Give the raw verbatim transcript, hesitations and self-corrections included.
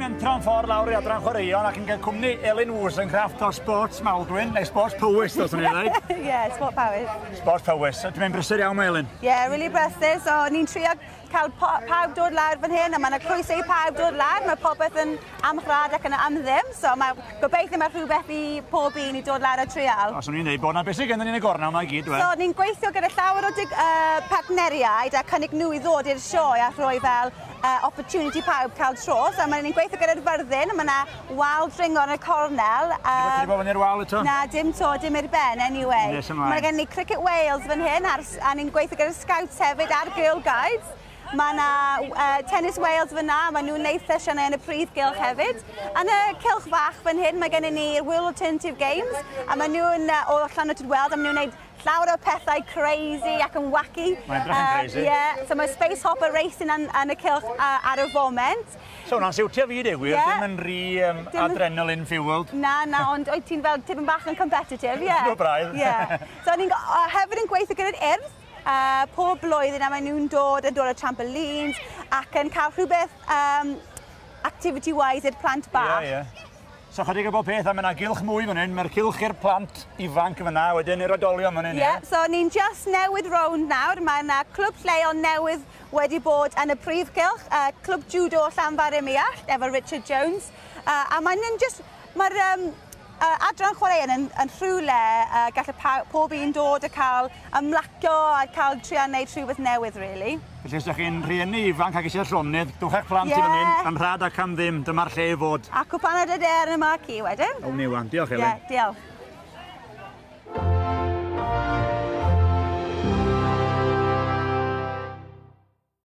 mentro'n ffordd lawr i adran chwaraeon ac yn cael cwmni Elin Wozencraft o Sports Maldwyn, neu Sports Powys, dylswn i ddweud. Yeah, Sport Powys. Sport Powys. Dwi'n mynd brysur iawn, mae Elin. Yeah, really brysur. So, ni'n trio cael pawb dod lawr fan hyn, a mae yna croeso i pawb dod lawr. Mae popeth yn amrhad ac yn am ddim, so mae gobeithio mae rhywbeth i pob un i dod lawr a trial. Os o'n i'n dweud bod na beth sydd gennym ni yn y gornel yma i gyd, So, ni'n gweithio gyda llawer o dig, uh, partneriaid a cynnig nhw i ddod i'r sioe a rhoi fel uh, opportunity pawb cael tro. So, mae ni'n gweithio gyda'r Fyrddin, mae yna wal dringo yn y cornel. Uh, Ti bod fyny'r wal eto? Na, dim to, dim i'r ben, anyway. Nes ymlaen. Mae gen ni Cricket Wales fan hyn, ar, a ni'n gweithio gyda'r Scouts hefyd a'r Girl Guides. Mae yna uh, Tennis Wales fyna, mae nhw'n neud sesiynau yn y prif gylch hefyd. Yn y cylch fach fan hyn, mae gennym ni'r World Alternative Games, a mae nhw'n uh, o Llanwrtyd Wells, a maen nhw'n neud llawer o pethau crazy ac yn wacky. Mae'n edrych yn crazy. Uh, yeah, so mae Space Hopper Racing yn, yn y cylch uh, ar y foment. So hwnna'n siwtio fi, dweud gwir, yeah. Dim yn rhy um, Dim... adrenaline fueled. Na, na, ond oed ti'n fel tipyn bach yn competitive, ie. Yeah. No braidd. Yeah. So ni'n uh, hefyd yn gweithio gyda'r Urdd, uh, pob blwyddyn a maen nhw'n dod yn dod o trampolines ac yn cael rhywbeth um, activity-wise i'r plant bach. Ie, yeah, ie. Yeah. So chydig o bob peth, a mae yna gylch mwy fan hyn, mae'r cylch i'r plant ifanc fyna, wedyn i'r oedolion fan hyn. Ie, yeah, so ni'n just newydd rownd nawr, mae yna clwb lleol newydd wedi bod yn y prif gylch, uh, clwb judo Llanfair-ym-Muallt, efo Richard Jones, uh, a mae'n just, mae'r um, uh, adran chwaraeon yn, yn rhywle uh, gallu pob un dod a cael ymlacio a cael trio wneud rhywbeth newydd, really. Felly, os ydych chi'n rhieni ifanc ac eisiau llonydd, dwch eich plant yeah. i fan hyn, am rhad ac am ddim, dyma'r lle i fod. A cwpaned y der yma ci wedyn. Awn ni wan, diolch Elin. Ie, yeah, diolch.